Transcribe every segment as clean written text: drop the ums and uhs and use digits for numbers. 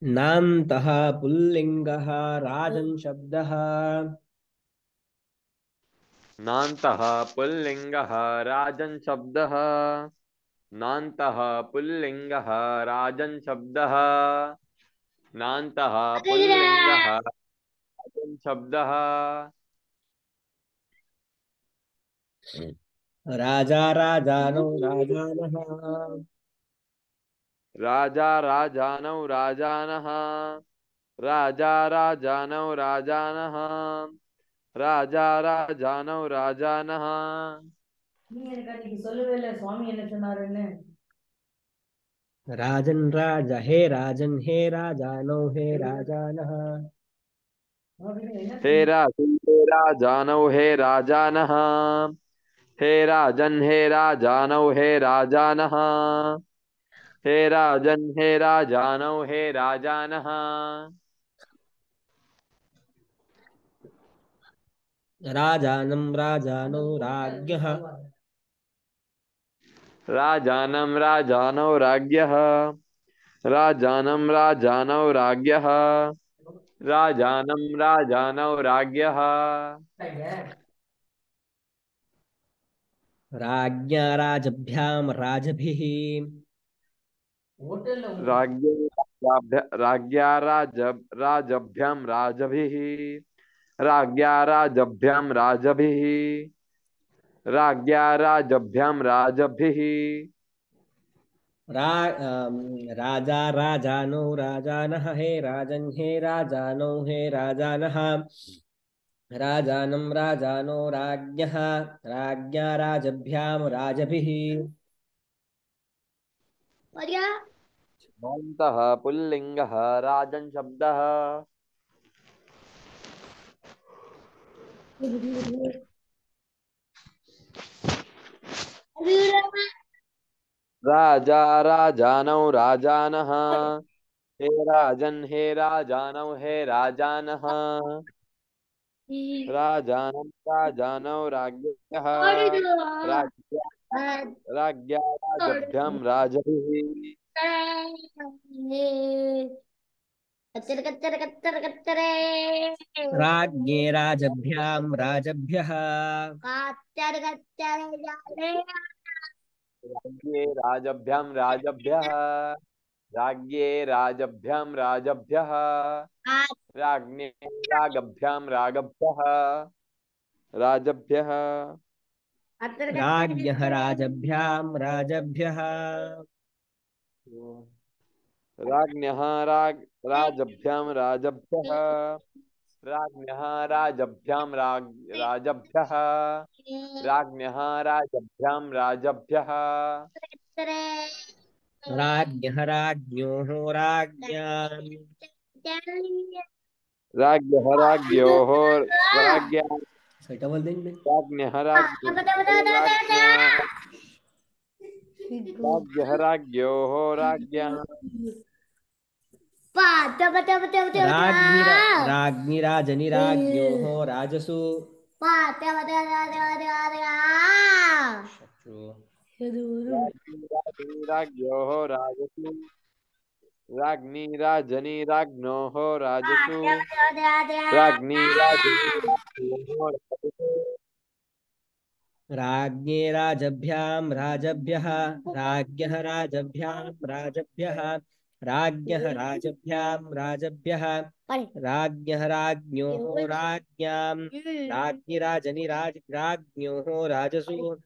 नान्तः पुल्लिङ्गः राजन् शब्दः। नान्तः पुल्लिङ्गः राजन् शब्दः। नान्तः पुल्लिङ्गः राजन् शब्दः। नान्तः पुल्लिङ्गः राजन् शब्दः। राजा राजानौ राजानः। राजा राजानौ राजानः। राजा राजानौ राजानः। राजा राजानौ राजानः। நீ எனக்கு அன்னைக்கு சொல்லவே இல்லை சுவாமி என்ன சொன்னாருன்னு. राजन् राजा हे राजन् हे राजानौ हे राजानः। हे राजन् हे राजानौ हे राजानः। हे राजन् हे राजानौ हे राजानः। हे राजन् हे राजानौ हे राजानः। राजानं राजानौ राज्ञः। राजानं राजानौ राज्ञः। राजानं राजानौ राज्ञः। राजानं राजानौ राज्ञः। राज्ञा राजभ्यां राजभिः। राज्ञा राजभ्यां राजभिः। राज्ञा राजभ्यां राजभिः। राज्ञा राजभ्यां राजभिः। राजा राजानौ राजानः हे राजन् हे राजानौ हे राजानः। राजानं राजानो राज्ञः राज्ञा राजभ्यां राजभिः। नान्तः पुल्लिङ्गः राजन् शब्दः। राजा राजानौ राजानः। हे राजन् हे राजानौ हे राजानः। राजानं राजानौ राज्ञः। राज्ञा राज्ञा राजभ्यां राजभिः। कच्चर कच्चर कच्चर कच्चरे राज्ञे राजभ्यां राजभ्यः। कच्चर कच्चर जाले राज्ञे राजभ्यां राजभ्यः। राज्ञे राजभ्यां राजभ्यः। राज्ञे रागभ्यां रागभ्यः। राजभ्यः। राज्ञः राजभ्यां राजभ्यः। राज्ञः राजभ्यां राजभ्यः। राज्ञः राजभ्यां राजभ्यः। राज्ञः राजभ्यां राजभ्यः। राज्ञः राज्ञोः राज्ञाम्। राज्ञः राज्ञोः राज्ञा सेटा बोल देंगे। राज्ञः राज्ञोः राज्ञा राज्ञः राज्ञोः राज्ञः। राज्ञी राजनी राज्ञोः राजसु। राज्ञी राजनी राज्ञोः राजसु। राज्ञी राजनी राज्ञोः राजसु। राज्ञी राजनी राज्ञोः राजसु। राज्ञे राजभ्यां राजभ्यः। राज्ञः राजभ्यां राजभ्यः। राज्ञः राजभ्यां राजभ्यः। राज्ञः राज्ञोः राज्ञां। राज्ञी राजनी राज्ञोः राजसु।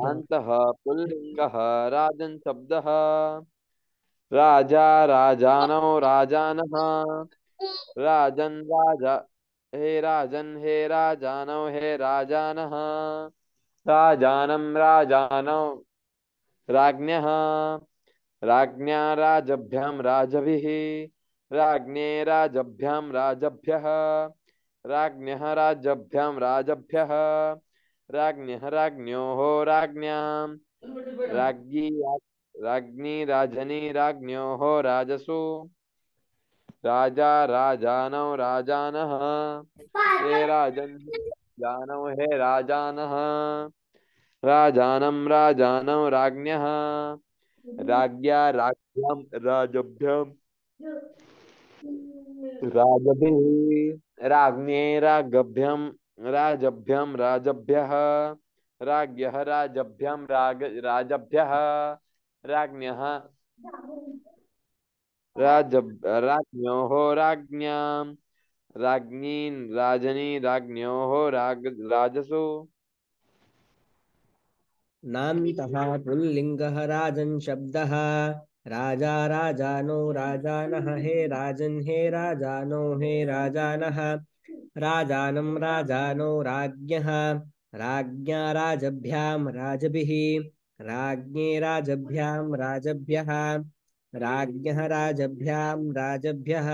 अन्तः पुल्लिङ्गः राजन् शब्दः। राजा राजानौ राजानः। राजन् राजा हे राजन् हे राजानौ हे राजानः। राजानं राजानौ राज्ञः। राज्ञा राजभ्यां राजभिः। राज्ञे राजभ्यां राजभ्यः। राज्ञः राजभ्यां राजभ्यः। राज्ञः राज्ञोः राज्ञाम्। राज्ञी राजनी राज्ञोः राजसु। राजा राजानौ राजानः। हे राजन् हे राजानौ हे राजानः। राजानं राजानौ राज्ञः राज्ञा राज्ञां राजभ्यां राजभिः राज्ञे राजभ्यः राज्ञः राजभ्यः राज्ञः राज्ञोः राज्ञां राजनी राज्ञोः राजसु नान्तः पुल्लिङ्गः राजन् शब्दः राजा राजानो राजानः हे राजन् हे राजानो हे राजानः राजानं राजानो राज्ञः राज्ञा राजभ्यां राजभिः राज्ञे राजभ्यां राजभ्यः राज्ञः राजभ्यां राजभ्यः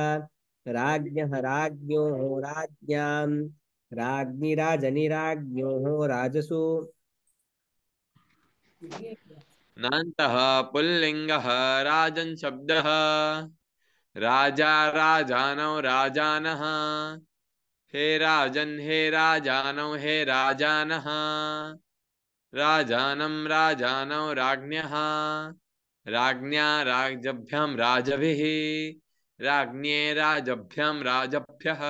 राज्ञः राज्ञोः राज्ञां राज्ञि राजनिराज्ञोः राजसु नान्तः पुल्लिङ्गः राजन् शब्दः राजा राजानौ राजानः हे राजन् हे राजानौ हे राजानः राजानं राजानौ राज्ञः राज्ञा राजभ्यां राजभिः राज्ञे राजभ्यां राजभ्यः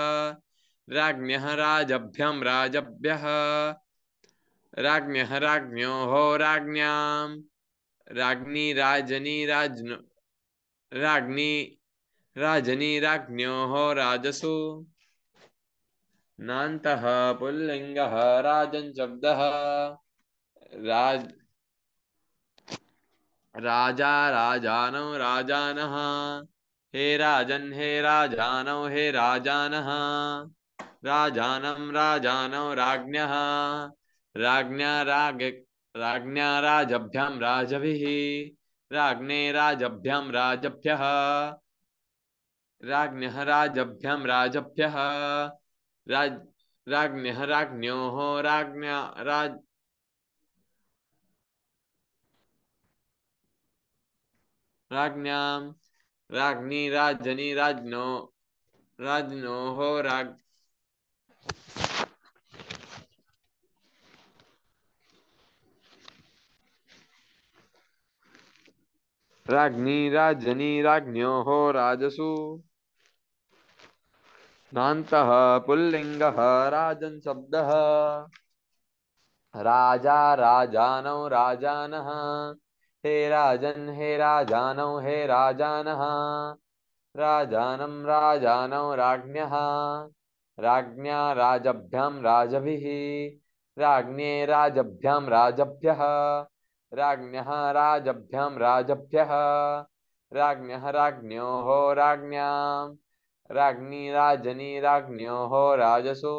राज्ञः राजभ्यां राजभ्यः राज्ञः राज्ञोः राज्ञां राज्ञी राज्ञी राजनी राज्ञोः राजसु नान्तः पुल्लिङ्गः राजन् शब्दः राज राजा राजानौ राजानः हे राजन् हे राजानौ हे राजानः राजानं राजानौ राज्ञः राज्ञा राजभ्यां राजभिः राज्ञे राजभ्यां राजभ्यः राज्ञः राजभ्यां राजभ्यः राज राज्ञः राज्ञोः राज्ञां राज्ञी राजनी राज्ञोः राज्ञी राजनी राज्ञोः राजसु नान्तः पुल्लिङ्गः राजन् शब्दः राजा राजानौ राजानः हे राजन् हे राजानौ हे राजानः राजानं राजानौ राज्ञः राज्ञा राजभ्यां राजभिः राज्ञे राजभ्यां राजभ्यः राज्ञः राजभ्यां राजभ्यः राज्ञः राज्ञोः राज्ञां राज्ञी राजनी राज्ञोः राजसु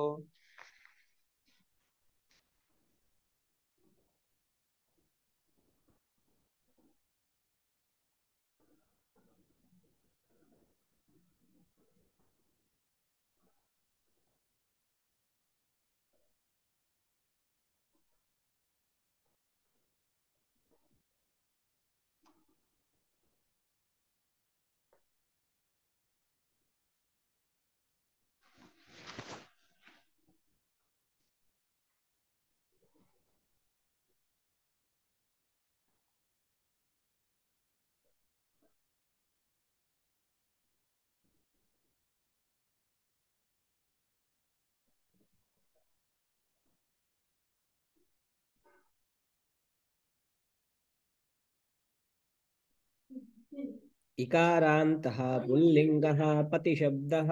इकारान्तः पुल्लिङ्गः पतिशब्दः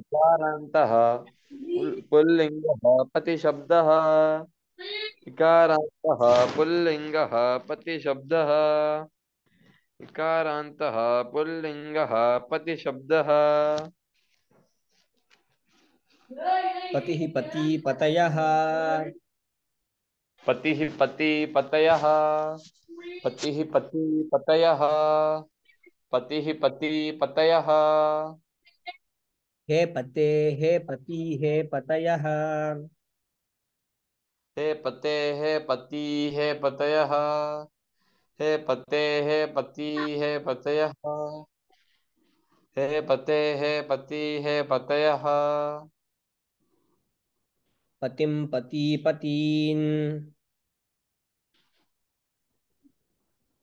इकारान्तः पुल्लिङ्गः पतिशब्दः इकारान्तः पुल्लिङ्गः पतिशब्दः इकारान्तः पुल्लिङ्गः पतिशब्दः पतिः पती पतयः पतिः पति पतयः पतिः पति पतयः पतिः पति पतयः हे पते हे पति हे पतयः हे पते हे पति हे पतयः हे पते हे पति हे पतयः हे पते हे पति हे पतयः पतिं पति पतीन्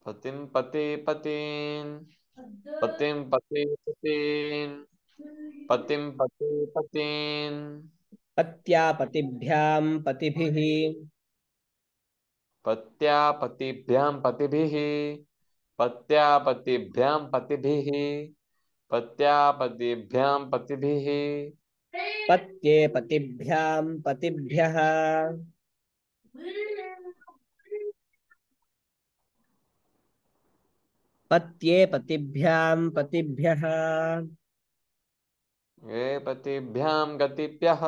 पतिं पते पतीन् पतिं पते पतीन् पतिं पते पतीन् पत्या पतिभ्यां पतिभिः पत्या पतिभ्यां पतिभिः पत्या पतिभ्यां पतिभिः पत्या पतिभ्यां पतिभिः पत्ये पतिभ्यां पतिभ्यः पत्ये पतिभ्यां पतिभ्यः ये पतिभ्यां गतिभ्यः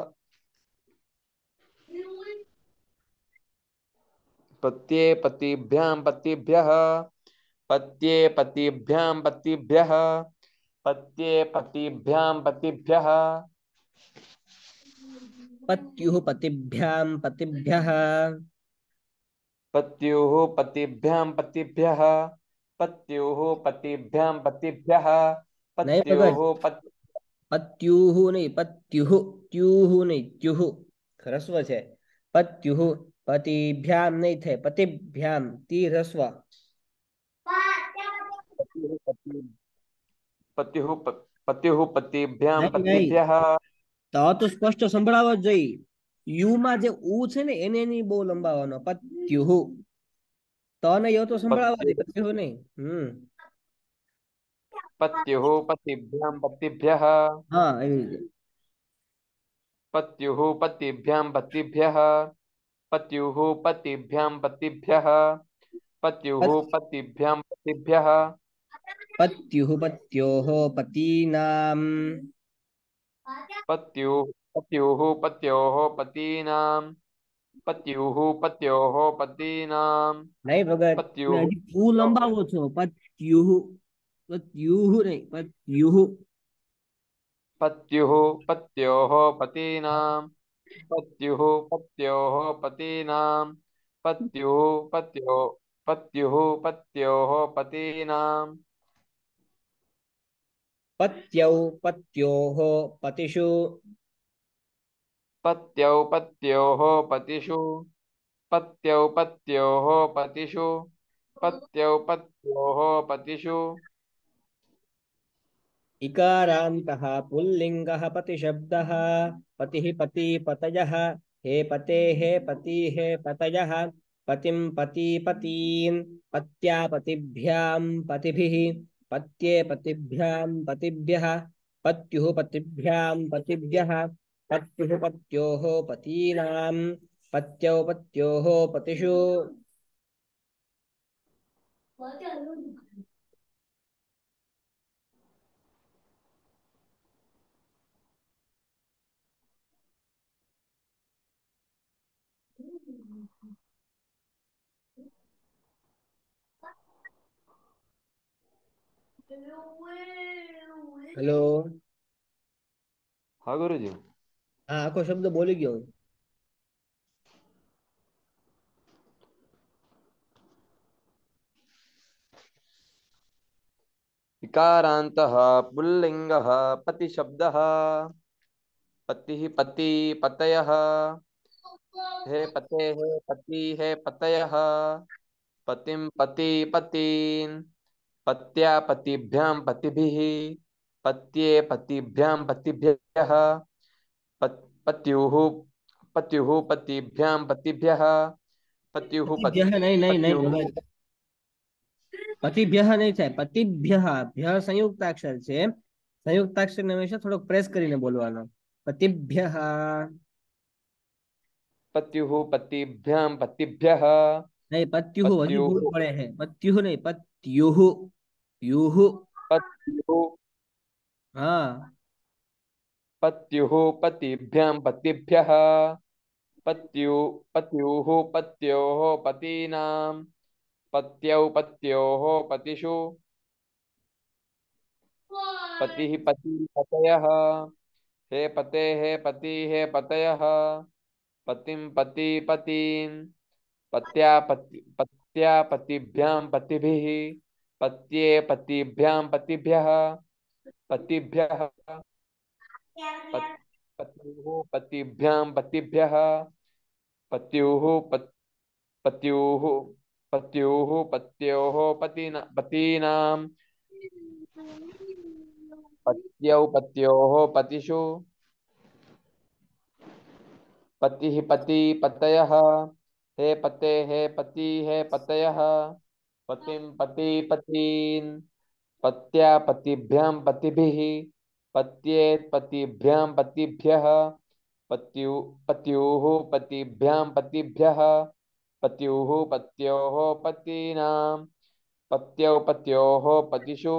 पत्ये पतिभ्यां पतिभ्यः पत्ये पतिभ्यां पतिभ्यः पत्ये पतिभ्यां पतिभ्यः पत्युः पतिभ्यां पतिभ्यः पत्युः पतिभ्यां पतिभ्यः पत्युः पतिभ्यां पतिभ्यः नहीं पत्युः भगत पति पत्युः नहीं पत्युः त्युः नहीं त्युः ह्रस्व છે पत्युः पतिभ्यां नहीं थे पतिभ्यां ती ह्रस्व पत्युः पत्युः पतिभ्यां नहीं नहीं पतिभ्यः તો સ્પષ્ટ સંભળાવો જ જોઈએ યુ માં જે ઉ છે ને એને નહીં બહુ લંબાવવાનો પત્યુઃ તો ને યો તો સંભળાવા દે पत्युः પત્યુઃ નહીં पत्युः पतिभ्यां पतिभ्यः હા એવી રીતે पत्युः पतिभ्यां पतिभ्यः पत्युः पतिभ्यां पतिभ्यः पत्युः पत्- पतिभ्यां पतिभ्यः पत्युः पत्योः पतीनां पत्युः पत्युः पत्योः पतीनां पत्युः पत्योः पतीनां નહીં ભગત તમે पत्युः હજી ઉ લંબાવો છો પત્યુઃ પત્યુઃ નહીં પત્યુઃ पत्युः पत्योः पतीनां पत्युः पत्योः पतीनां पत्युः पत्यो पत्युः पत्योः पतीनां पत्यौ पत्योः पतिषु पत्यौ पत्योः पतिषु पत्यौ पत्योः पतिषु पत्यौ पत्योः पतिषु इकारान्तः पुल्लिङ्गः पतिशब्दः पतिः पति पतयः हे पते हे पति हे पतयः पतिं पति पतीन् पत्या पतिभ्यां पतिभिः पत्ये पतिभ्यां पतिभ्यः पत्युः पतिभ्यां पतिभ्यः पत्युः पत्योः पतीनां पत्यौ पत्योः पतिषु हेलो हाँ गुरुजी हाँ आखो शब्द बोली गयो इकारान्तः पुल्लिङ्गः पतिशब्दः पतिः पति पतयः हे पते हे पति हे पतयः पतिं पति पतीन् पत्या पतिभ्यां पतिभिः पत्ये पतिभ्यां पतिभ्यः पत्युः पत्युः पतिभ्यां पतिभ्यः पत्युः पतिभ्यः नहीं नहीं नहीं पत्युः भगत પતિભ્યઃ નહીં થાય પતિભ્યઃ ભ્ય સંયુક્તાક્ષર છે સંયુક્તાક્ષર ને હંમેશા થોડોક પ્રેસ કરીને બોલવાનો પતિભ્યઃ पत्युः पतिभ्यां पतिभ्यः नहीं पत्युः હજી पत्युः ભૂલ પડે છે પત્યુઃ નહીં પત્યુઃ યુઃ पत्युः हाँ पत्युः पतिभ्यां पतिभ्यः पत्युः पत्योः पतीनां पत्यौ पत्योः पतिषु पतिः पति पतयः हे पते हे पति हे पतयः पतिं पति पतीन् पत्या पतिभ्यां पतिभिः पत्ये पतिभ्यां पतिभ्यः पतिभ्यः पत्युः पतिभ्यां पतिभ्यः पत्युः पत्युः पत्युः पतीनां पत्योः पतिषु पतिः पति पतयः हे पते हे पति हे पतयः पतिं पति पतीन् पत्या पतिभ्यां पतिभिः पत्येत् पतिभ्यां पतिभ्यः पत्युः पतिभ्यां पतिभ्यः पत्युः पत्योः पतीनां पत्यौ पत्योः पतिषु।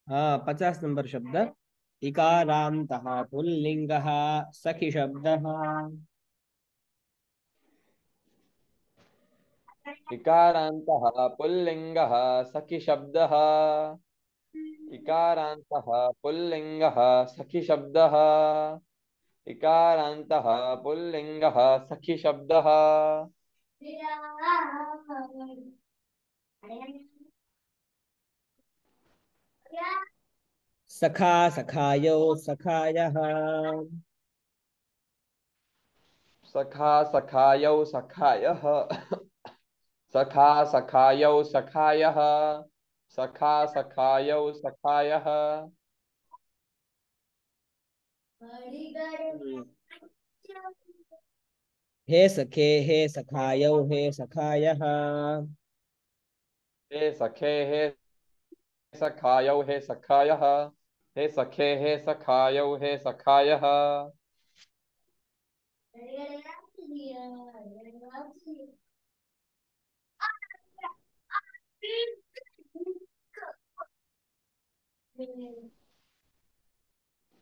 हाँ, 50 नंबर शब्द। इकारान्तः पुल्लिङ्गः सखि शब्दः। इकारान्तः पुल्लिङ्गः सखि शब्दः इकारान्तः पुल्लिङ्गः सखि शब्दः इकारान्तः पुल्लिङ्गः सखि शब्दः सखा सखायो सखायः। सखा सखायौ सखायः सखा सखायौ सखायः सखा सखायौ सखायः हे सखे हे सखायो हे सखायः। हे सखे हे सखायौ हे सखायः हे सखे हे सखायौ हे सखायः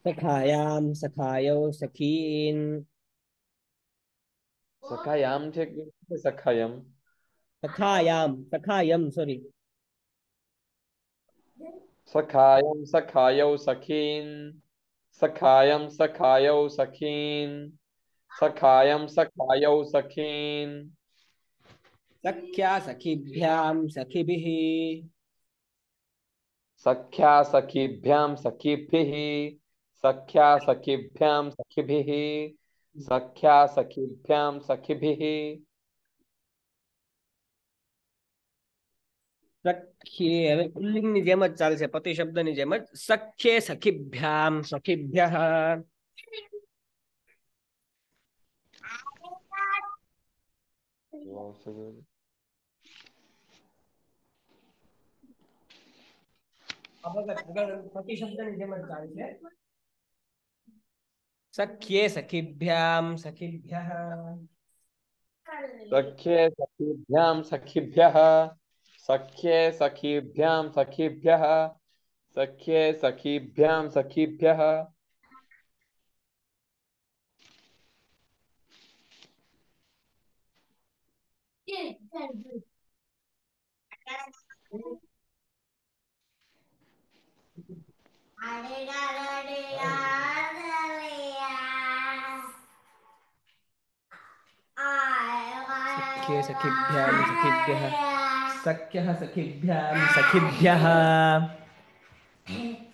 सखायां सखायो सखीन्। सखायां ठीक सखायम सखायां सखायं सॉरी। सखायं सखायौ सखीन् सखायं सखायौ सखीन् सखायं सखायौ सखीन् सख्या सखिभ्यां सखिभिः। सख्या सखीभ्यां सखीभिः सख्या सखीभ्यां सखीभिः सख्या सखीभ्यां सखीभिः સખ્યે હવે પુલ્લિંગની જેમ જ ચાલશે, પતિ શબ્દની જેમ જ સખ્યે સખીભ્યામ સખીભ્યઃ. પતિ શબ્દની જેમ જ ચાલશે. સખ્યે સખીભ્યામ સખીભ્યઃ. सख्ये सखीभ्यां सखीभ्यः सख्ये सखीभ्यां सखीभ्यः सख्ये सखीभ्यां सखीभ्यः सख्ये सखीभ्याम सखीभ्यः. सख्यः सखीभ्याम सखीभ्यः.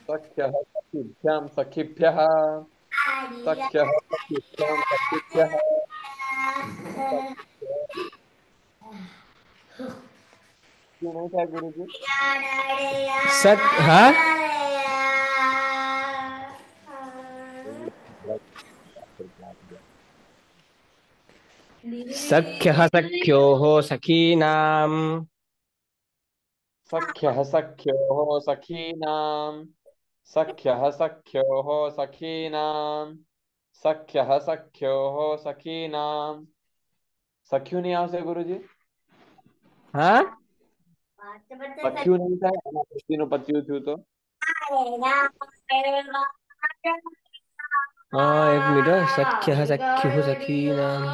सख्यः सखीभ्यां सखीभ्यः सख्यः सखीभ्यां सखीभ्यः क्यों नहीं था गुरुजी? सक हाँ सख्यः सख्योः सखीनाम् सख्यः सख्योः सखीनाम्, सख्यः सख्योः सखीनाम्, सख्यः सख्योः सखीनाम्। सख्यू नहीं आवશે गुरुजी? हाँ सख्यू नहीं था એના પછીનું પત્યું થયું તો? हाँ एक मिनट सख्यः सख्युः सखीनाम्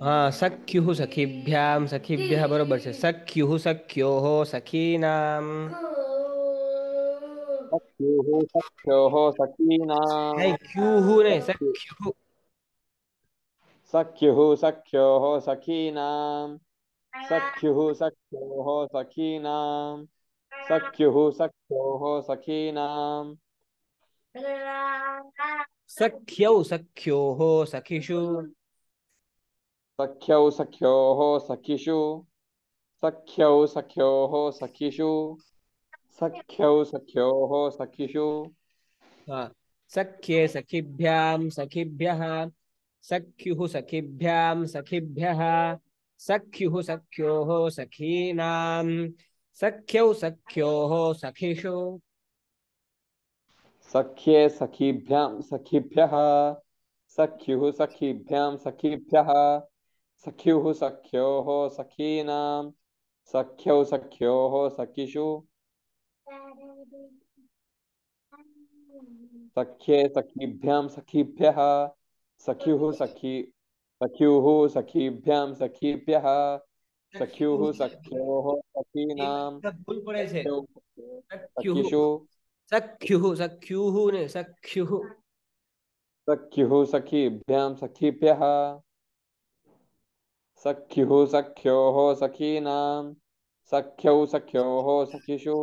हाँ सख्युः सखीभ्यां सखीभ्यः बरोबर છે सख्युः सख्योः सखीनाम् सख्युः सख्योः सखीनाम्, नहीं क्यूः नहीं सख्यु सख्युः सख्युः सख्योः सखीनाम्, सख्युः सख्योः सखीनाम्, सख्युः सख्योः सखीनाम्, सख्यौ सख्योः सखिषु सख्यौ सख्योः सखिषु, सख्यौ सख्योः सखिषु, सख्यौ सख्योः सखिषु, हाँ सख्ये सखिभ्यां सखिभ्यः सख्युः सखिभ्यां सखिभ्यः सख्युः सख्योः सखीनाम् सख्यौ सख्योः सखिषु सख्ये सखीभ्यां सखिभ्यः, सख्युः सखीभ्यां सखीभ्यः, सख्युः सख्योः सखीनां, सख्यौ सख्योः सखिषु, सख्ये सखीभ्यां सखीभ्यः, सख्युः सखी सख्युः सखीभ्यां सखीभ्यः, सख्युः सख्युः सख्योः सखीनां, भूल पड़े છે सख्यौ सख्योः सख्युः सखिषु, सख्युः सख्युः ने सख्युः सख्युः सखीभ्यां सखीभ्यः, सख्युः सख्योः सखीनां, सख्यौ सख्योः सखिषु,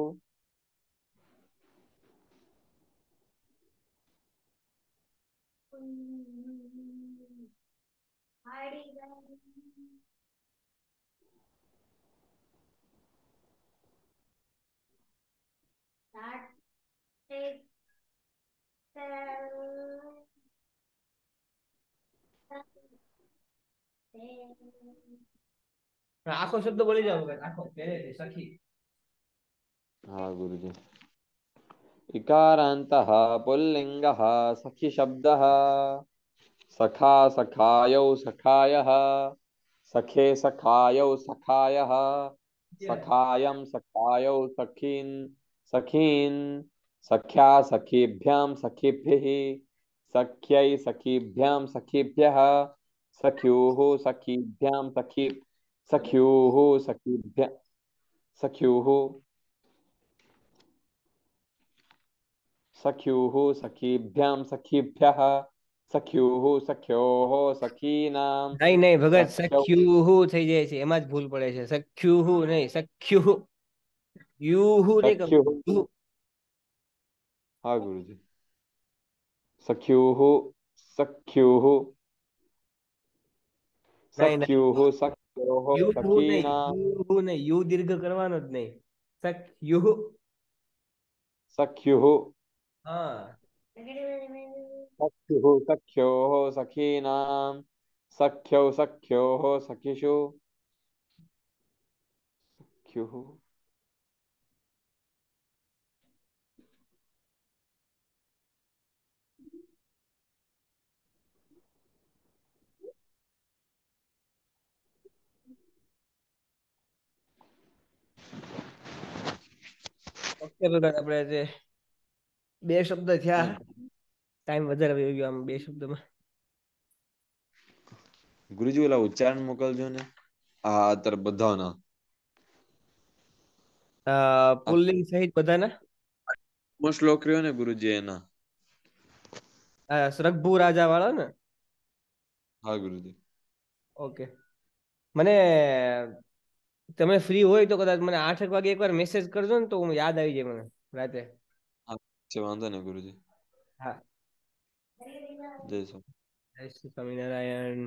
આખો શબ્દ બોલી જાવ આખો પહેલેથી સખી हाँ गुरुजी। इकारान्तः पुल्लिङ्गः सखिशब्दः, सखा सखायौ सखायः, सखे सखायौ सखायः, सखायं सखायौ सखीन् सखीन्, सख्या सखीभ्यां सखिभिः, सख्यै सखीभ्यां सखीभ्यः, सख्युः सखीभ्यां सखी सख्युः सखीभ्य सख्युः सख्युः सखीभ्यां सखीभ्यः, सख्युः सख्योः सखीनां, નહીં નહીં ભગત सख्यौ સખ્યુહુ થઈ જાય છે એમાં જ ભૂલ પડે છે સખ્યુહુ નહીં સખ્યુહુ યુહુ નહીં सख्युः। કહું हाँ गुरुजी। सख्युः सख्युः નહીં નહીં सख्युः सख्योः सखीनां, યુહુ નહીં યુ દીર્ઘ કરવાનો જ નહીં સખ્યુહુ सख्युः હા सख्युः सख्योः सखीनां, सख्यौ सख्योः सखिषु, सख्युः। ઓકે ભગત આપણે જે બે શબ્દ થયા ટાઈમ વધારે વહી ગયો આમ બે શબ્દમાં ગુરુજી ઓલા ઉચ્ચારણ મોકલજો ને આ અત્યારે બધાના પુલ્લિંગ સહિત બધાના શ્લોક રહ્યો ને ગુરુજી એના. સરગભુ રાજા વાળા ને હા ગુરુજી. ઓકે મને તમે ફ્રી હોય તો કદાચ મને 8 વાગે એકવાર મેસેજ કરજો ને, તો હું યાદ આવી જાય મને રાતે. હા છે, વાંધો નહીં ગુરુજી. હા. જય સ્વામી. જય શ્રી સ્વામિનારાયણ.